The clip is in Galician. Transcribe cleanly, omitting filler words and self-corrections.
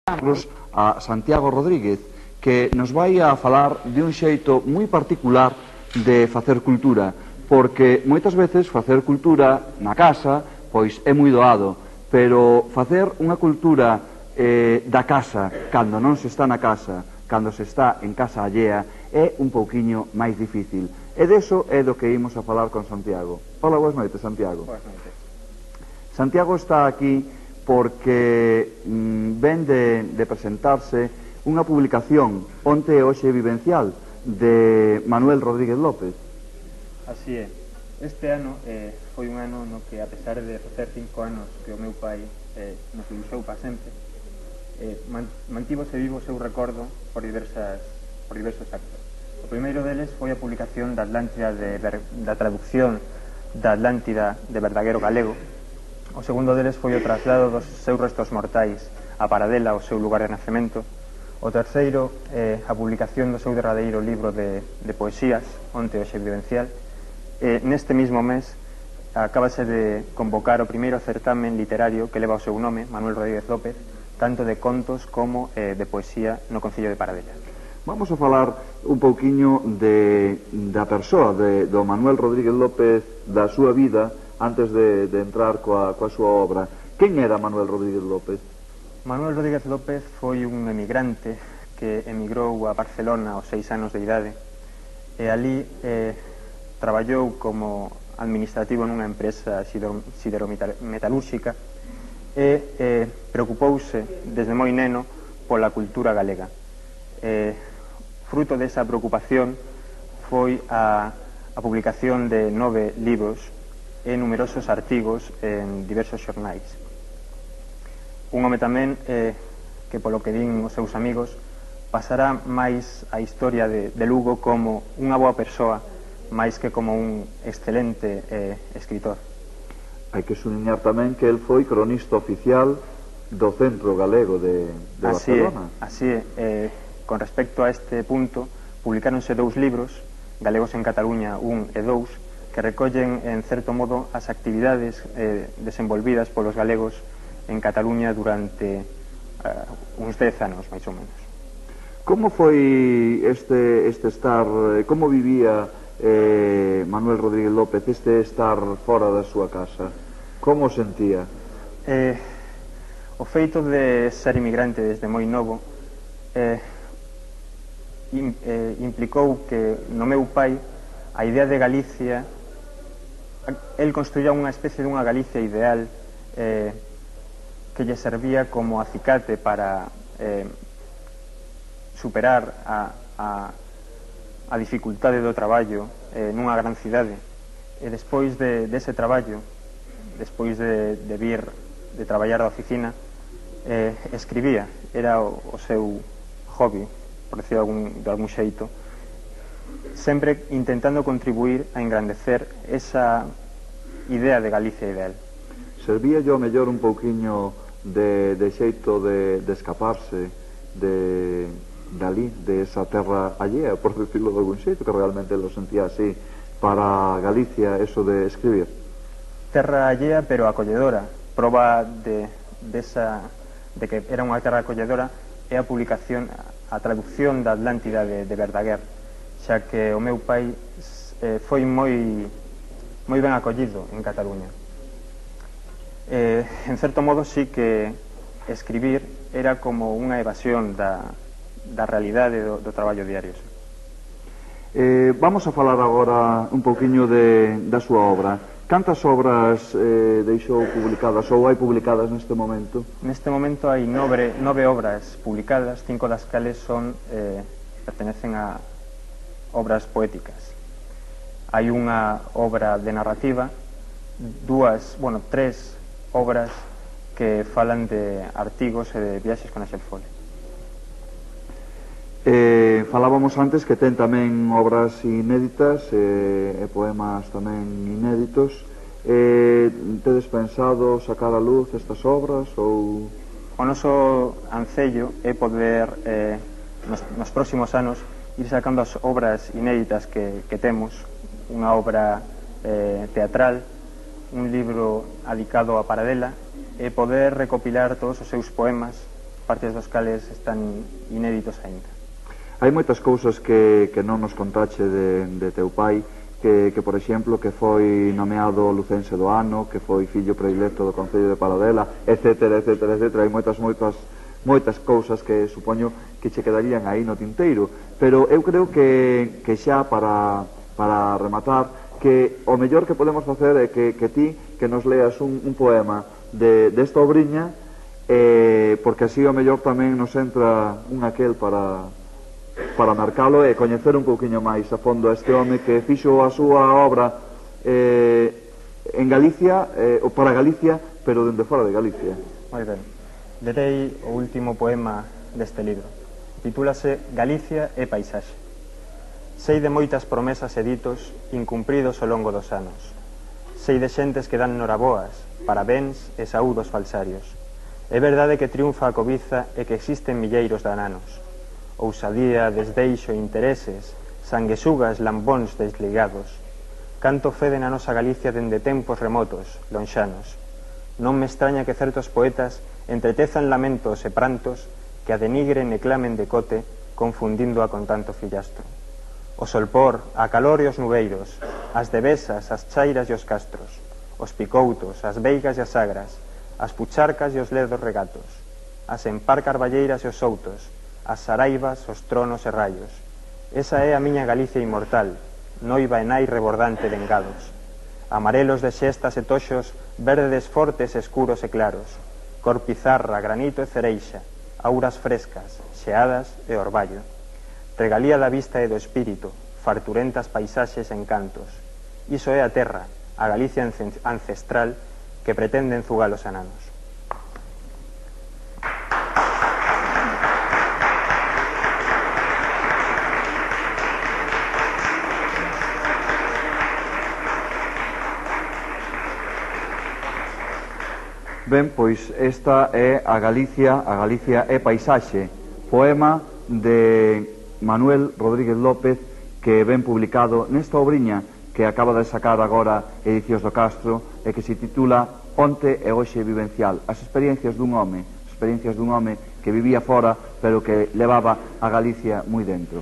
A Santiago Rodríguez, que nos vai a falar de un xeito moi particular de facer cultura, porque moitas veces facer cultura na casa pois é moi doado, pero facer unha cultura da casa cando non se está na casa, cando se está en casa allea, é un pouquiño máis difícil. E deso é do que imos a falar con Santiago. Hola, boas noites, Santiago. Boas noites. Santiago está aquí porque ven de presentarse unha publicación onte e hoxe vivencial de Manuel Rodríguez López. Así é. Este ano foi un ano no que, a pesar de facer 5 anos que o meu pai nos ilusou para sempre, mantívose vivo o seu recordo por diversos actos. O primeiro deles foi a publicación da Atlántida da traducción da Atlántida de Verdaguer ao galego. O segundo deles foi o traslado dos seus restos mortais a Paradela, o seu lugar de nacemento. O terceiro, a publicación do seu derradeiro libro de poesías, onte hoxe vivencial. Neste mismo mes acabase de convocar o primeiro certamen literario que leva o seu nome, Manuel Rodríguez López, tanto de contos como de poesía no Concello de Paradela. Vamos a falar un pouquiño da persoa do Manuel Rodríguez López, da súa vida, antes de entrar coa súa obra. Quen era Manuel Rodríguez López? Manuel Rodríguez López foi un emigrante que emigrou a Barcelona aos 6 anos de idade e ali traballou como administrativo nunha empresa siderometalúrxica e preocupouse desde moi neno pola cultura galega. Fruto desa preocupación foi a publicación de 9 libros e numerosos artigos en diversos xornais. Un home tamén que, polo que din os seus amigos, pasará máis a historia de Lugo como unha boa persoa máis que como un excelente escritor. Hai que sublinhar tamén que el foi cronista oficial do Centro Galego de Barcelona. Así é. Con respecto a este punto, publicáronse 2 libros, Galegos en Cataluña 1 e 2, que recollen, en certo modo, as actividades desenvolvidas polos galegos en Cataluña durante uns 10 anos, máis ou menos. Como foi este estar, como vivía Manuel Rodríguez López este estar fora da súa casa? Como o sentía? O feito de ser inmigrante desde moi novo implicou que no meu pai a idea de Galicia, el construía unha especie dunha Galicia ideal que lle servía como acicate para superar a dificultade do traballo nunha gran cidade. E despois dese traballo, despois de vir de traballar da oficina, escribía, era o seu hobby, por decirlo de algún xeito, sempre intentando contribuir a engrandecer esa idea de Galicia ideal. Servía yo mellor un pouquiño de xeito de escaparse dali, de esa terra allea, por decirlo de algún xeito, que realmente lo sentía así, para Galicia, eso de escribir? Terra allea, pero acolledora. Proba de que era unha terra acolledora é a publicación, a traducción da Atlántida de Verdaguer, xa que o meu pai foi moi ben acollido en Cataluña. En certo modo sí que escribir era como unha evasión da realidade do traballo diario. Vamos a falar agora un pouquiño da súa obra. Cantas obras deixou publicadas ou hai publicadas neste momento? Neste momento hai 9 obras publicadas, 5 das cales pertenecen a obras poéticas. Hai unha obra de narrativa, 3 obras que falan de artigos e de viaxes con Axel Fole. Falábamos antes que ten tamén obras inéditas e poemas tamén inéditos. Tedes pensado sacar a luz estas obras ou...? O noso ancello é poder nos próximos anos ir sacando as obras inéditas que temos, unha obra teatral, un libro adicado a Paradela, e poder recopilar todos os seus poemas partes dos cales están inéditos aínda. Hai moitas cousas que non nos contache de teu pai, que por exemplo, que foi nomeado lucense do ano, que foi fillo predilecto do Concello de Paladela, etcétera, etcétera, etcétera. Hai moitas cousas que supoño que che quedarían aí no tinteiro, pero eu creo que xa para rematar, que o mellor que podemos facer é que ti que nos leas un poema desta obriña, porque así o mellor tamén nos entra un aquel para marcalo e coñecer un pouquiño máis a fondo a este home que fixo a súa obra en Galicia, ou para Galicia, pero dende fora de Galicia. Moi ben. Lerei o último poema deste libro. Titúlase Galicia e paisaxe. Sei de moitas promesas e ditos incumpridos ao longo dos anos. Sei de xentes que dan noraboas, parabéns e saúdos falsarios. É verdade que triunfa a cobiza e que existen milleiros de ananos. Ousadía, desdeixo, intereses, sanguesugas, lambóns desligados. Canto fede na nosa Galicia dende tempos remotos, lonxanos. Non me extraña que certos poetas entretezan lamentos e prantos que a denigren e clamen de cote, confundíndoa con tanto fillastro. O solpor, a calor e os nubeiros, as devesas, as chairas e os castros, os picoutos, as veigas e as agras, as pucharcas e os ledos regatos, as empar carballeiras e os soutos, as saraivas, os tronos e raios. Esa é a miña Galicia inmortal, noiva e nai rebordante de engados. Amarelos de xestas e toxos, verdes fortes, escuros e claros, cor pizarra, granito e cereixa, auras frescas, xeadas e orballo. Regalía da vista e do espírito, farturentas paisaxes e encantos. Iso é a terra, a Galicia ancestral que pretende enzugar os ananos. Ben, pois esta é a Galicia é paisaxe, poema de Manuel Rodríguez López, que ven publicado nesta obriña que acaba de sacar agora Edicións do Castro e que se titula Onte e Hoxe Vivencial, as experiencias dun home que vivía fora pero que levaba a Galicia moi dentro.